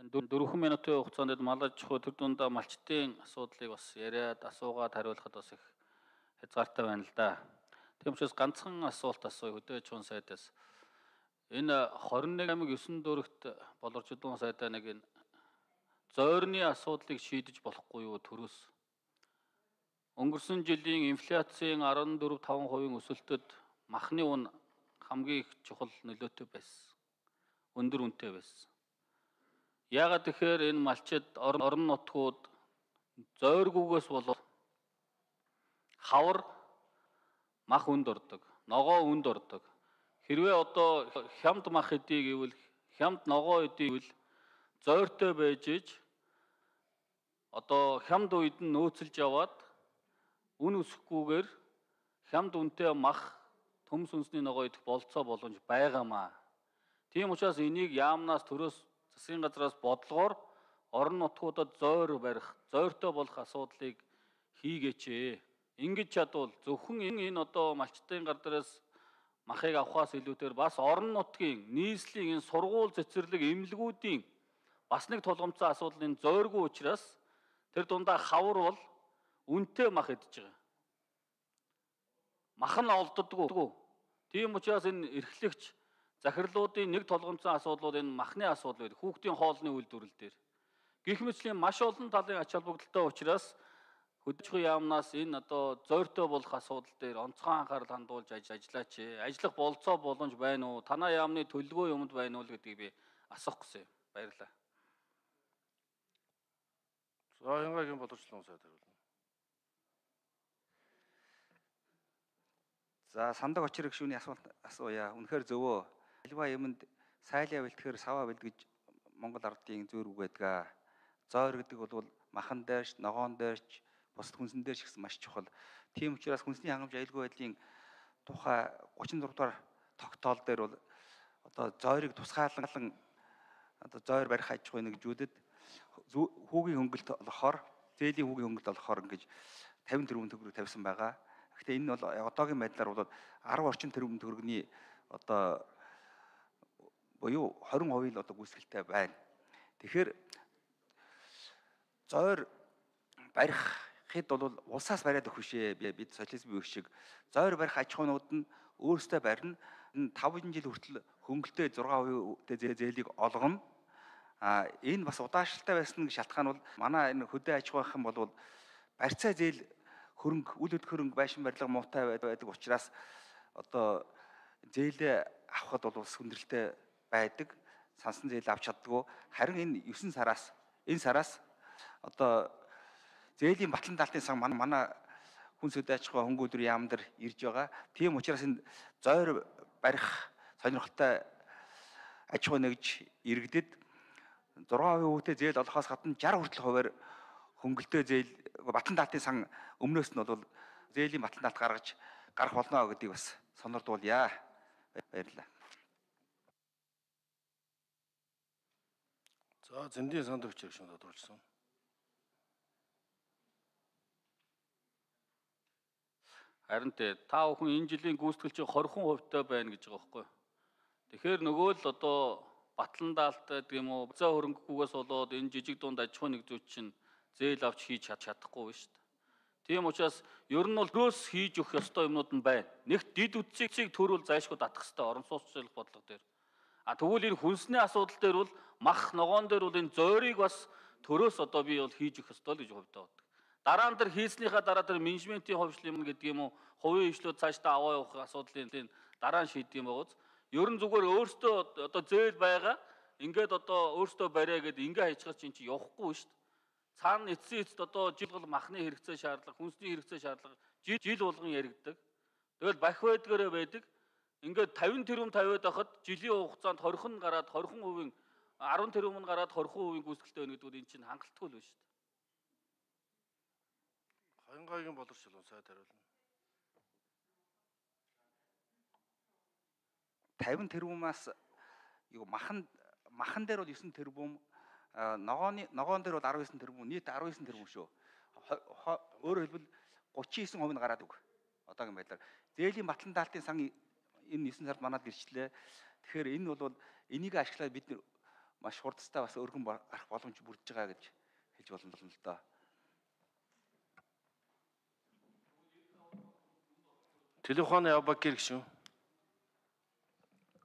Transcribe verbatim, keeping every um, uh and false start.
Дөрвөн минутын хугацаанд малаж чухал тэр дундаа малчтын асуудлыг бас яриад асуугаад хариулахад бас их хязгаартай байна л да. Тийм учраас ганцхан асуулт асууя хөдөө аж ахуйн сайдаас. Энэ хорин нэг аймаг ёсон дүүрэгт боловсролын сайдаа нэг энэ зойрны асуудлыг шийдэж болохгүй юу төрөөс? Өнгөрсөн жилийн инфляцийн арван дөрөв таван хувийн өсөлтөд махны үн хамгийн их чухал нөлөөтэй байсан. Өндөр үнэтэй байсан. Яагаад тэгэхээр энэ малчид орон нутгууд зойргүйгээс болоод хавар мах үнд ордог, ногоо үнд ордог. Хэрвээ одоо хямд мах эдий гэвэл хямд ногоо эдий гэвэл зойртой байж иж одоо хямд үед нь нөөцөлж яваад үн өсөхгүйгээр хямд үнэтэй мах төмс үнсний ногоо идэх болцоо боломж байгаамаа. Тийм учраас энийг яамнаас төрөөс засгийн газраас бодлогоор орон нутгуудад зойр барих, зойртой болох асуудлыг хийгээч ээ. Ингэж чадвал зөвхөн энэ одоо малчтын гар дээрээс махыг авахаас илүүтэйгээр бас орон нутгийн нийслэлийн энэ сургууль цэцэрлэг эмнэлгүүдийн бас нэг тулгымцсан асуудал энэ зойргүй учраас тэр дундаа хавар бол үнэтэй мах идэж байгаа. Мах нь олддоггүй. Тийм учраас энэ эрхлэгч захирлуудын нэг тулгымцсан асуудлууд энэ махны асуудал байдаг. Хүүхдийн хоолны үйлдвэрлэл дээр. Гэх мэтлийн маш олон талын ач холбогдолтой учраас хөдөлгөөний яамнаас энэ одоо зойртой болох асуудал дээр онцгой анхаарал хандуулж ажиллаач ээ. Ажиллах болцоо боломж байна уу? Танай яамны төлөвлөгөө юмд байна уу гэдгийг би асуух гэсэн юм. Баярлалаа. За Янгагийн боловсролын сайд хариулна. За сандаг очир гүшүүний асуулт асууя. Үнэхээр зөвөө. Альва юмд сайлаа бэлтгэхээр саваа бэлгэж Монгол ардын зөөр үгээдгээ. Зойр гэдэг бол махан дээрч, ногоон дээрч, бусад хүнсэн дээр ч гэсэн маш чухал. Тийм учраас хүнсний хангамж аюулгүй байдлын тухай гучин дөрөв дугаар тогтоол дээр бол одоо зойрыг тусгаалan одоо зойр барих аж ахуйн нэгжүүдэд хүүгийн хөнгөлт олохоор, зээлийн хүүгийн хөнгөлт олохоор ингэж тавин тэрбум төгрөг тавьсан байгаа. Гэхдээ энэ бол одоогийн байдлаар бол арав орчим тэрбум төгрөгийн одоо буюу хорин хувийн л одоо гүйцэтгэлтэй байна. Тэгэхээр зойр барихд бол улсаас бариад өгөх шээ. Бид социализмын үе шиг зойр барих аж ахуйнууд нь өөрсдөө барина. таван жил хүртэл хөнгөлтэй зургаан хувийн зээлийг олгоно. А энэ бас удаашралтай байсан шалтгаан бол манай энэ хөдөө аж ахуйн бол барьцаа зээл хөрөнгө, үл хөдлөх хөрөнгө байшин барилга муутай байдаг учраас одоо зээлээ авахд бол ус хүндрэлтэй байдаг. Сансан зээл авч чаддгүй. Харин энэ девять сараас энэ сараас одоо зээлийн батлан даалтын сан манай хүнс хөдөө аж ахуйн хөнгөлөөр яам дээр ирж байгаа. Тийм учраас энэ зойр барих сонирхолтой аж ахуй нэгж иргэдэд зургаан хувийн хүүтэй зээл олохоос гадна шарх хүртэл хуваар хөнгөлтөө зээл батлан даалтын сан өмнөөс нь бол зээлийн батлан даалт гаргаж гарах болно гэдгийг бас сонирдуулъя. Баярлалаа. За зэндийн сандаг хүчээр шууд тодорхойлсон. Харин тэ та бүхэн энэ жилийн гүйцэтгэл чинь двадцать хувьтай байна гэж байгаа байхгүй. Тэгэхээр нөгөө л одоо батлан даалтай гэх юм уу бацаа хөрөнгөхгүйгээс болоод энэ жижиг дунд аж ахуйн нэгжүүд чинь зээл авч хийж чадахгүй шүү дээ. Тийм учраас ер нь бол дөөс хийж өгөх ёстой юмнууд нь байна. Нэгт дид үтцийг төрүүл зайлшгүй татах хэрэгтэй орон сууцчлах бодлого дээр. А тэгвэл энэ хүнсний асуудал дээр бол мах ногоон дээр бол энэ зойрыг бас төрөөс одоо би бол хийж өгөх ёстой л гэж хувьдаа боддог. Дараа нь тэр хийснийхаа дараа тэр менежментийн ховшлол юм гэдэг юм уу хувийн хвшлүүд цаашдаа аваа явах асуудлын дараа нь шийдэх юм байгууз. Ер нь зүгээр өөртөө одоо зээл байгаа ингээд одоо өөртөө бариа гэдэг ингээ хайчгаж чинь чи явахгүй шүү дээ. Цаана эцсийн эцэд одоо жил бол махны хэрэгцээ шаардлага, хүнсний хэрэгцээ шаардлага жил жил болгон яригддаг. Тэгэл бах байдгаараа байдаг. Ингээд тавин тэрбум тавиад байхад жилийн хугацаанд хорхон гараад хорхон хувийн арван тэрбум нь гараад хорхон хувийн гүйцэтгэлтэй байна гэдэг нь энэ чинь хангалтгүй л байна шүү дээ. Янгагийн боловсролын сайд хариулна. тавин тэрбумаас юу махан махан дээр бол девять тэрбум, ногооны ногоон дээр бол десять тэрбум, нийт десять тэрбум шүү. Өөрөөр хэлбэл тридцать девять хувь нь гараад үг. Одоогийн байдлаар зээлийн батлан даалтын сан энэ девять сард манад гэрчлээ. Тэгэхээр энэ бол энийг ашиглаад бид маш хурдтай бас өргөн гарах боломж бүрдэж байгаа гэж хэлж болно л доо. Телефоны Ябагир гişүн.